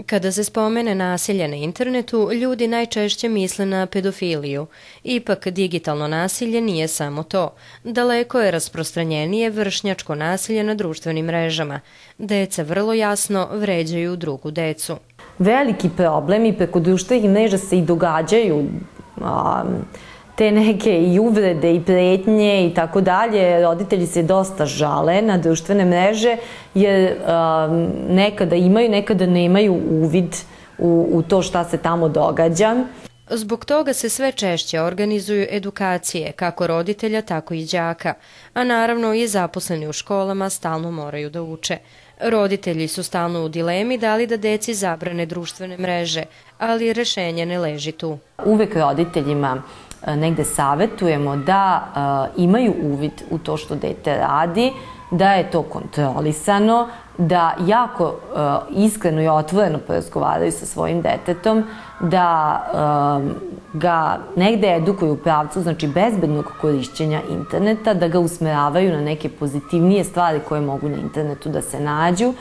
Kada se spomene nasilje na internetu, ljudi najčešće misle na pedofiliju. Ipak, digitalno nasilje nije samo to. Daleko je rasprostranjenije vršnjačko nasilje na društvenim mrežama. Deca vrlo jasno vređaju drugu decu. Veliki problem i preko društvenih mreža se i događaju te neke i uvrede i pretnje i tako dalje. Roditelji se dosta žale na društvene mreže jer nekada imaju, nekada nemaju uvid u to šta se tamo događa. Zbog toga se sve češće organizuju edukacije, kako roditelja, tako i đaka, a naravno i zaposleni u školama stalno moraju da uče. Roditelji su stalno u dilemi da li da deci zabrane društvene mreže, ali rešenje ne leži tu. Uvek roditeljima negde savetujemo da imaju uvid u to što dete radi, da je to kontrolisano, da jako iskreno i otvoreno porazgovaraju sa svojim detetom, da ga negde edukuju u pravcu, znači bezbednog korišćenja interneta, da ga usmeravaju na neke pozitivnije stvari koje mogu na internetu da se nađu.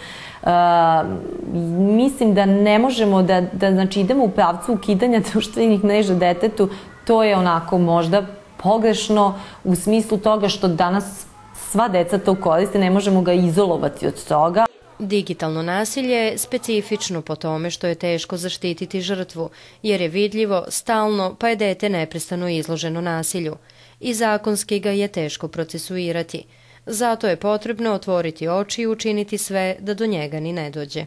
Mislim da ne možemo da znači, idemo u pravcu ukidanja društvenih mreža detetu. To je onako možda pogrešno u smislu toga što danas sva deca to koriste, ne možemo ga izolovati od toga. Digitalno nasilje je specifično po tome što je teško zaštititi žrtvu, jer je vidljivo, stalno, pa je dete neprestano izloženo nasilju. I zakonski ga je teško procesuirati. Zato je potrebno otvoriti oči i učiniti sve da do njega ni ne dođe.